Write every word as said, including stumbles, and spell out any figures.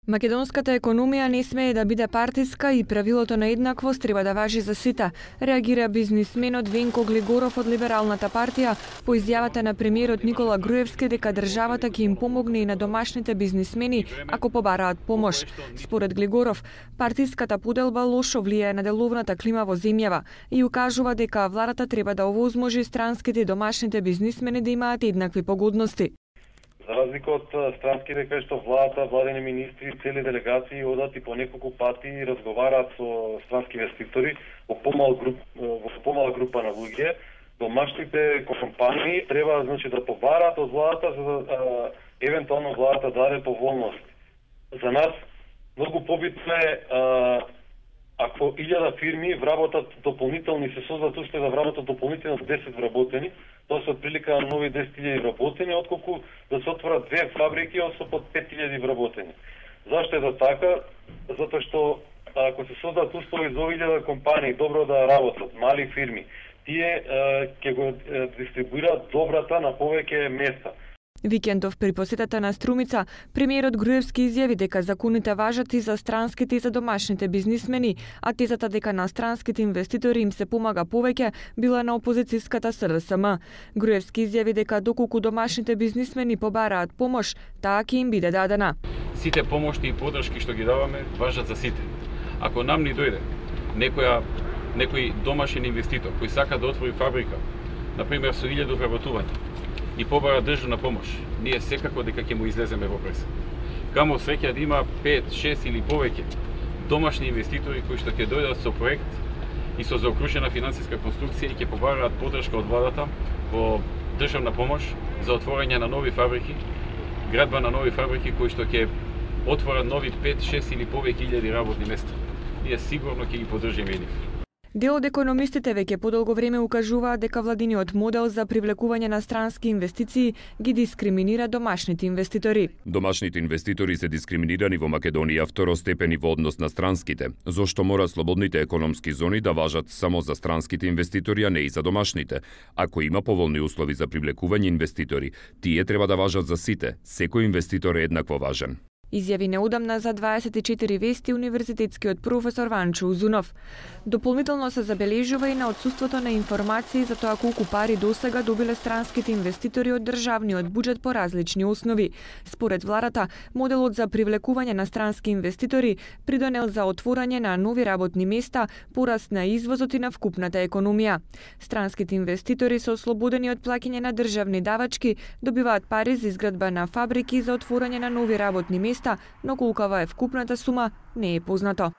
Македонската економија не смее да биде партиска и правилото на еднаквост треба да важи за сите, реагира бизнисменот Венко Глигоров од Либералната партија по изјавата на премиерот Никола Груевски дека државата ќе им помогне и на домашните бизнисмени ако побараат помош. Според Глигоров, партиската поделба лошо влијае на деловната клима во земјава и укажува дека владата треба да овозможи странските и домашните бизнисмени да имаат еднакви погодности. За разлика од странските кај што владата, владени министри, цели делегации одат и по неколку пати и разговараат со странски инвеститори во помал груп, во помала група на луѓе, домашните компании треба значи да побараат од владата за да а, евентуално владата даде поволност. За нас многу побитно е а, ако илјада фирми вработат дополнителни, се создадат уште да вработат дополнително десет вработени, тоа се отприлика на нови десет илјади вработени, отколку да се отворат две фабрики со под пет илјади вработени. Зашто е да така? Затоа што ако се создадат услови за илјада компании добро да работат, мали фирми, тие ќе го дистрибуираат добрата на повеќе места. Викендов при посетата на Струмица, премиерот Груевски изјави дека законите важат и за странските и за домашните бизнисмени, а тезата дека на странските инвеститори им се помага повеќе била на опозицијската С Д С М. Груевски изјави дека доколку домашните бизнисмени побараат помош, таа ќе им биде дадена. Сите помошни и подршки што ги даваме важат за сите. Ако нам ни дојде некоја некој домашен инвеститор кој сака да отвори фабрика, на пример со илјада вработувања, и побара државна помош, ние секако дека ќе му излеземе во пресек. Камо среќа да има пет, шест или повеќе домашни инвеститори кои што ќе дојдат со проект и со заокружена финансиска конструкција и ќе побараат подршка од владата во државна помош за отворање на нови фабрики, градба на нови фабрики кои што ќе отворат нови пет, шест или повеќе илјади работни места. Ние сигурно ќе ги поддржиме нив. Дел од економистите веќе подолго време укажуваат дека владиниот модел за привлекување на странски инвестиции ги дискриминира домашните инвеститори. Домашните инвеститори се дискриминирани во Македонија второстепени во однос на странските, зошто мора слободните економски зони да важат само за странските инвеститори, а не и за домашните. Ако има поволни услови за привлекување инвеститори, тие треба да важат за сите. Секој инвеститор е еднакво важен. Изјави неодамна за дваесет и четири вести универзитетскиот професор Ванчо Узунов. Дополнително се забележува и на отсуството на информации за тоа колку пари досега добиле странските инвеститори од државниот буџет по различни основи. Според владата, моделот за привлекување на странски инвеститори придонел за отворање на нови работни места, пораст на извозот и на вкупната економија. Странските инвеститори се ослободени од плаќање на државни давачки, добиваат пари за изградба на фабрики и за отворање на нови работни места, но колкава е вкупната сума не е познато.